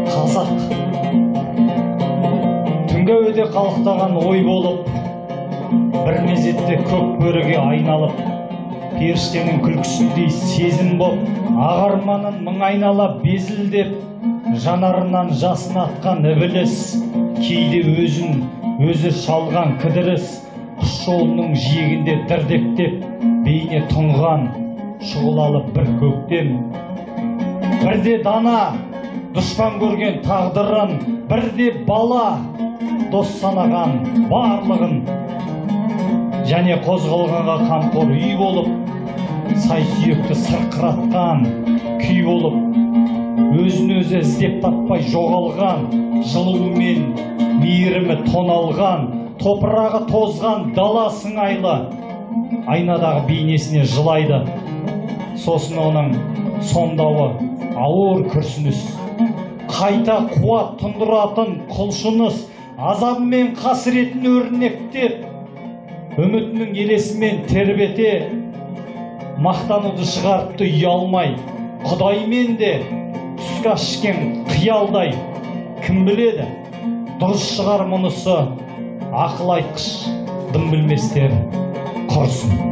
Қазақ түнгәуде қалықтаған ой болып, бір мезетте көк бөріге айналып, періштенің күлкісіндей сезім боп, ағарманын мың айнала безілдеп, жанарынан жасын атқан ібіліс, кейде өзі шалған кідіріс, құс жолының жиегінде дірдектеп, бейне тұнған шұғылалы бір көктем. Бірде дана дұшпан көрген тағдырын, бірде бала дос санаған барлығын, және қозғалғанға қамқор үй болып, сай сүйекті сырқыратқан күй болып, өзін өзі іздеп таппай жоғалған, жылуы мен мейірімі тоналған, топырағы тозған дала сыңайлы, айнадағы бейнесіне жылайды. Сосын оның сомдауы ауыр күрсініс, қайта қуат тұндыратын құлшыныс, азабы мен қасіретін өрнектеп, үмітінің елесімен тербете, мақтануды шығарыпты ұялмай, Құдаймен де түскі ас ішкен қиялдай. Кім біледі, дұрыс шығар мұнысы, ақыл айтқыш дым білместер құрсын.